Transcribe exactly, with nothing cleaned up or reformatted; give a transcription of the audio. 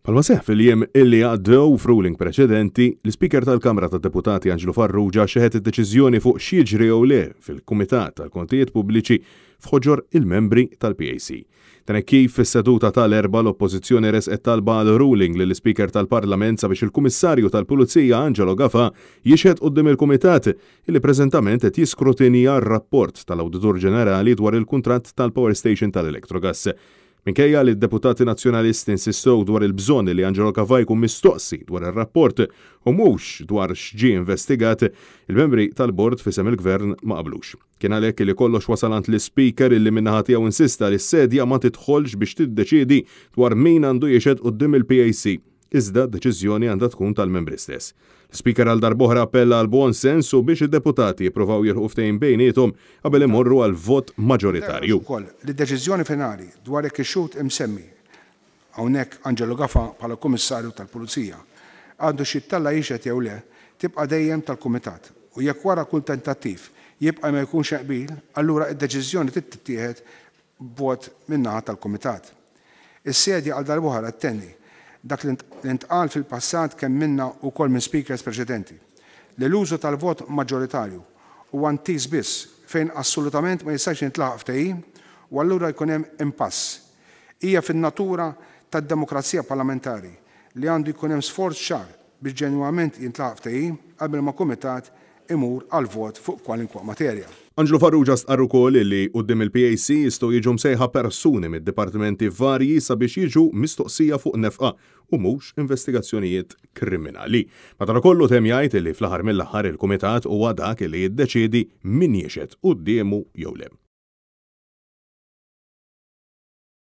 Bħalma seħħ fil-jiem illi għaddew f'ruling preċedenti, l-Ispeaker tal-Kamra tad-Deputati Anġlu Farrugia xeħet id-deċiżjoni fuq x'jiġri jew le fil-Kumitat tal-Kontijiet Pubbliċi f'ħoġor il-membri tal-P A C. Dan hekk kif fis-seduta tal-Erbgħa l-Oppożizzjoni resqet talba għal ruling lill-Ispeaker tal-Parlament sabiex il-Kummissarju tal-Pulizija Angelo Gafa jixhed quddiem il-Kumitat illi preżentament qed jiskrutinja r-rapport tal-Awditur Ġenerali dwar il-kuntratt tal-Power Station tal-Electrogas. Minkejja li d-deputati nazzjonalisti insistew dwar il-bżonn li Angelo Gafa jkun mistoqsi dwar ir-rapport u mhux dwar x'ġie investigat, il-membri tal-bord f'isem il-gvern ma qablux. Kien għalhekk li kollox wasal għand l-Ispeaker, illi min-naħa tiegħu insista li s-sedja ma tidħolx biex tiddeċiedi dwar min għandu jixhed quddiem il-P A C. Iżda deċiżjoni għandha tkun tal-membri stess. L-Speaker għal darb'oħra appella għal buon sens u biex id-deputati jippruvaw jilħqu ftehim bejniethom qabel imorru għal vot maġoritarju. Ukoll li d-deċiżjoni finali dwar jekk ix-xhud imsemmi hawnhekk, Angelo Gafa bħala Kummissarju tal-Pulizija, għandu jittella' jixhed jew le, tibqa' dejjem tal-Kumitat u jekk wara kull tentattiv jibqa' ma jkunx qbil, allura id-deċiżjoni tittieħed b'vot min-naħa tal-Kumitat. Is-sedja għal darb'oħra ttenni dak li ntqal fil-passat kemm minna u kol minn speakers preċedenti, li l-użu tal-vot maġġoritarju huwa intiż biss fejn assolutament ma jistax jintlaħaq ftehim u allura jkun hemm impass. Hija fin-natura tad-demokrazija parlamentari li għandu jkun hemm sforz ċar biex ġenwament jintlaħaq ftehim qabel ma kumitat imur għal vot fuq kwalinkwa materja. Anġlu Farrugia stqarr ukoll li quddiem il-P A C jistgħu jiġu msejħa persuni mid-dipartimenti varji sabiex jiġu mistoqsija fuq nefqa u mhux investigazzjonijiet kriminali. Madankollu temm jgħid li fl-aħħar mill-aħħar il-kumitat huwa dak li jiddeċiedi min jixhed quddiemu jew le.